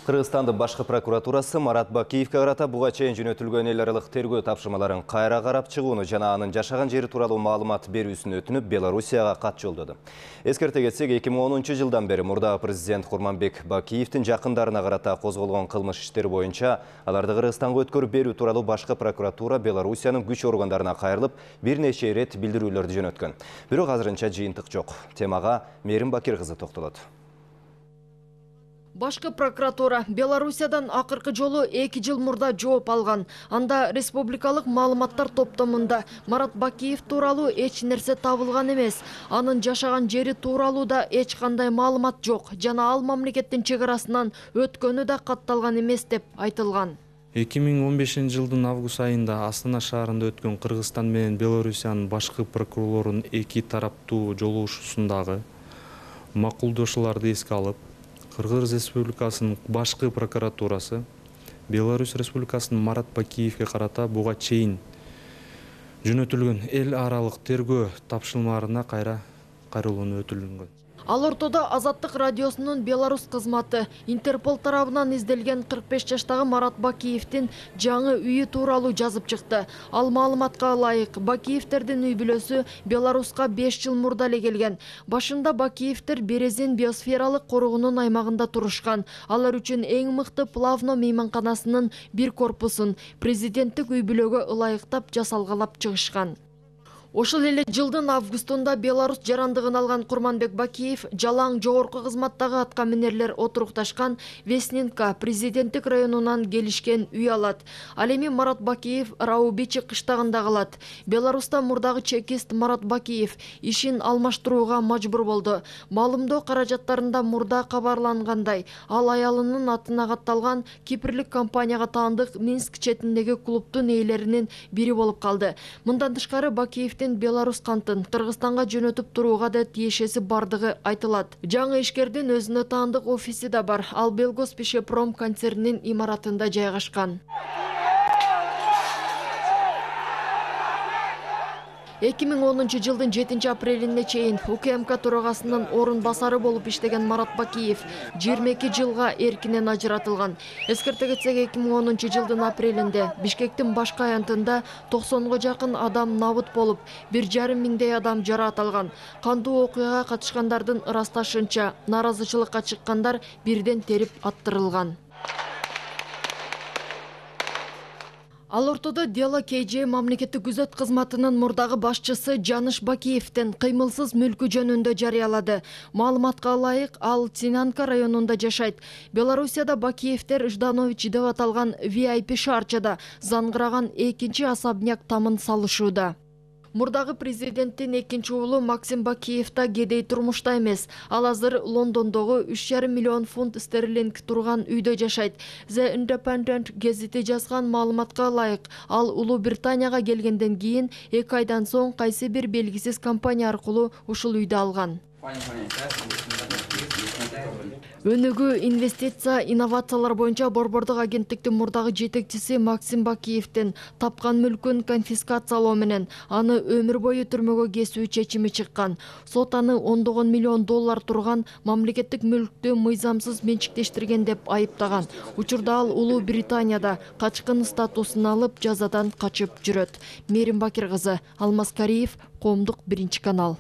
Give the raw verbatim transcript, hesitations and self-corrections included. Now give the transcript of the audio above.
Кыргызстандын башкы прокуратурасы Марат Бакиевке карата буга чейин жөнөтүлгөн эл аралык тергөө тапшырмаларын кайра карап чыгууну жана анын жашаган жери тууралуу маалымат берүүсүн өтүнүп Белоруссияга кат жолдоду. Эскерте кетсек, эки миң онунчу жылдан бери мурдагы президент Курманбек Бакиевдин жакындарына карата козголгон кылмыш иштери боюнча аларды Кыргызстанга өткөрүп берүү тууралуу башкы прокуратура Белоруссиянын күч органдарына кайрылып, бир нече ирет билдирүүлөрдү жөнөткөн. Бирок азырынча жыйынтык жок. Темага Мерим Бакир кызы токтолот. Башкы прокуратура Белоруссиядан акыркы жолу эки жыл мурда жооп алган. Анда республикалык маалыматтар топтомунда Марат Бакиев тууралуу эч нерсе табылган эмес. Анын жашаган жери тууралуу да эч кандай маалымат жок жана ал мамлекеттин чек арасынан өткөнү да катталган эмес деп айтылган. эки миң он бешинчи жылдын август айында Астана шаарында өткөн Кыргызстан менен Белоруссиянын башкы прокурорунун эки тараптуу жолугушуусундагы макулдашууларды эске алып, Кыргыз Республикасынын башкы прокуратурасы Беларусь Республикасынын Марат Бакиевке карата буга чейин жөнөтүлгөн эл аралык тергөө тапшырмаларына кайра кароолонуу өтүлгөн. Ал ортодо Азаттык радиосунун Беларусь кызматы Интерпол тарабынан изделген кырк беш жаштагы Марат Бакиевдин жаңы үйү тууралуу жазып чыкты. Ал маалыматка ылайык, Бакиевтердин үй бүлөсү Беларуска беш жыл мурда эле келген. Башында Бакиевтер Березин биосфералык коргоонун аймагында турушкан. Алар үчүн эң мыкты Плавно мейманканасынын бир корпусун президенттик үй бүлөгө ылайыктап жасалгалап чыгышкан. Ошол эле жылдын августунда Беларусь жарандыгын алган Курманбек Бакиев жалаң жогорку кызматтагы аткаминерлер отурукташкан Веснинка президенттик районунан келишкен үй алат. Ал эми Марат Бакиев Раубичи кыштагында калат. Беларуста мурдагы чекист Марат Бакиев ишин алмаштырууга мажбур болду. Маалымдоо каражаттарында мурда кабарлангандай, ал аялынын атына катталган кипрлик компанияга таандык Минск четиндеги клубдун ээлеринин бири болуп калды. Мындан тышкары Бакиев Беларусь кантын Кыргызстанга жөнөтүп турууга да тиешеси бардыгы айтылат. Жаңы ишкердин өзүнө таандык офиси да бар. Ал Белгоспешепром концернинин имаратында жайгашкан. эки миң онунчу жылдын жетинчи апрелине чейин УКМК төрагасынын орун басары болуп иштеген Марат Бакиев жыйырма эки жылга эркинен ажыратылган. Эскерте кетсек, эки миң онунчу жылдын апрелинде Бишкектин башкы аянтында токсонго жакын адам набыт болуп, бир жарым миңдей адам жараат алган. Кандуу окуяга катышкандардын ырасташынча, нааразычылыкка чыккандар бирден терип аттырылган. Ал ортодо Дело кей же мамлекеттик күзөт кызматынын мурдагы башчысы Жаныш Бакиевдин кыймылсыз мүлкү жөнүндө жарыялады. Маалыматка ылайык, ал Цинанка районунда жашайт. Белоруссияда Бакиевтер Жданович деп аталган ви ай пи шаарчада заңгыраган экинчи особняк тамын салышууда. Мурдагы президенттин экинчи уулу Максим Бакиев да кедей турмушта эмес. Ал азыр Лондондогу үч жарым миллион фунт стерлинг турган үйдө жашайт. The Independent гезити жазган маалыматка ылайык, ал Улуу Британияга келгенден кийин эки айдан соң кайсы бир белгисиз компания аркылуу ушул үйдү алган. Өнүгүү, инвестиция, инновациялар боюнча борбордук агенттиктин мурдагы жетекчиси Максим Бакиевдин тапкан мүлкүн конфискациялоо менен аны өмүр бою түрмөгө кесүү чечими чыккан. Сот аны ондогон миллион доллар турган мамлекеттик мүлктү мыйзамсыз менчиктештирген деп айыптаган. Учурда ал Улуу Британияда качкын статусун алып, жазадан качып жүрөт. Мерим Бакир кызы, Алмаз Кариев, Коомдук биринчи канал.